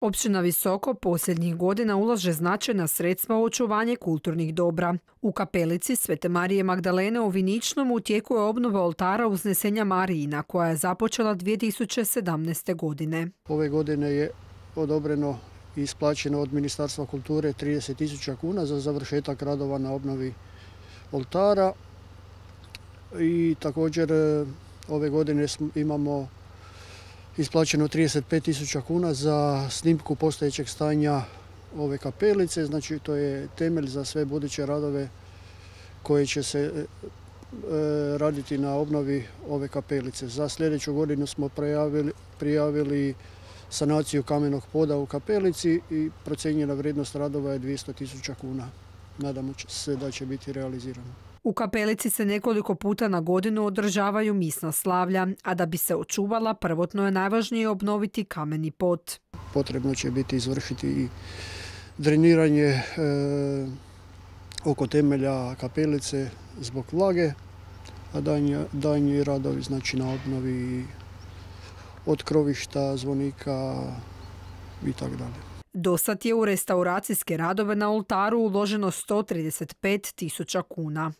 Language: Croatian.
Općina Visoko posljednjih godina ulaže značajna sredstva u očuvanje kulturnih dobra. U kapelici Svete Marije Magdalene u Viničnom u tijeku je obnova oltara Uznesenja Marijina koja je započela 2017. godine. Ove godine je odobreno i isplaćeno od Ministarstva kulture 30.000 kuna za završetak radova na obnovi oltara i također ove godine imamo isplaćeno 35.000 kuna za snimku postojećeg stanja ove kapelice, znači to je temelj za sve buduće radove koje će se raditi na obnovi ove kapelice. Za sljedeću godinu smo prijavili sanaciju kamenog poda u kapelici i procijenjena vrijednost radova je 200.000 kuna. Nadamo se da će biti realizirano. U kapelici se nekoliko puta na godinu održavaju misna slavlja, a da bi se očuvala prvotno je najvažnije obnoviti kameni pod. Potrebno će biti izvršiti i dreniranje oko temelja kapelice zbog vlage, a daljnji radovi znači na obnovi od krovišta, zvonika i tako dalje. Dosad je u restauracijske radove na oltaru uloženo 135.000 kuna.